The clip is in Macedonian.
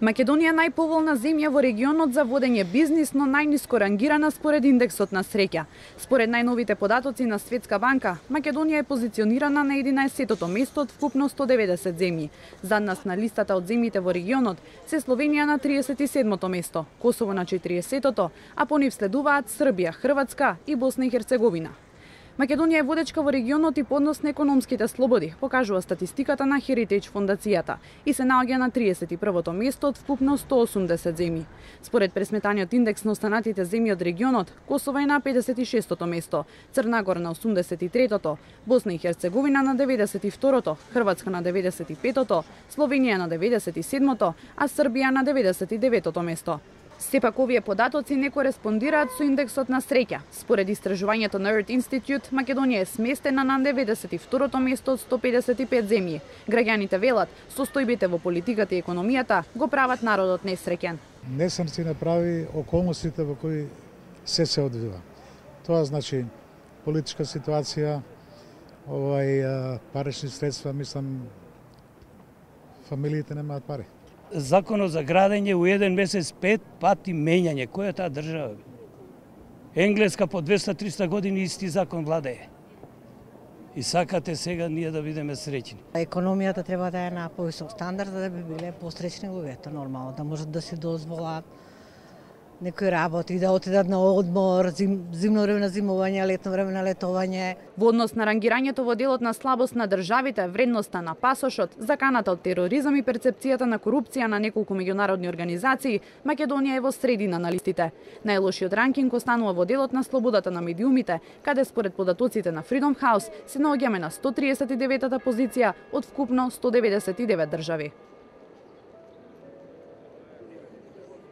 Македонија е најповолна земја во регионот за водење бизнис, но најниско рангирана според индексот на среќа. Според најновите податоци на Светска банка, Македонија е позиционирана на 11-тото место од вкупно 190 земји. Зад нас на листата од земјите во регионот се Словенија на 37-то место, Косово на 40-тото, а по нив следуваат Србија, Хрватска и Босна и Херцеговина. Македонија е водечка во регионот и по однос на економските слободи, покажува статистиката на Heritage фондацијата и се наоѓа на 31-то место од вкупно 180 земји. Според пресметаниот индекс на останатите земји од регионот, Косово е на 56-то место, Црна Гора на 83-тото, Босна и Херцеговина на 92-то, Хрватска на 95-то, Словенија на 97-то, а Србија на 99-то место. Сепак овие податоци не кореспондираат со индексот на среќа. Според истражувањето на Earth Institute, Македонија е сместена на 92-то место од 155 земји. Граѓаните велат, состојбите во политиката и економијата го прават народот несреќен. Несреќа направи околностите во кои се одвива. Тоа значи политичка ситуација, парични средства, мислам, фамилиите немаат пари. Законот за градење у еден месец 5 пати менјање. Која е таа држава? Енглеска по 200-300 години исти закон владее. И сакате сега ние да бидеме среќни. Економијата треба да е на повисок стандард, да би биле посреќни луѓето, нормално, да можат да си дозволат некои работи, да отидат на одмор, зимно време на зимување, летно време на летовање. Во однос на рангирањето во делот на слабост на државите, вредноста на пасошот, заканата од тероризам и перцепцијата на корупција на неколку меѓународни организации, Македонија е во средина на листите. Најлошиот ранкинг останува во делот на слободата на медиумите, каде според податоците на Freedom House се наоѓаме на 139-та позиција од вкупно 199 држави.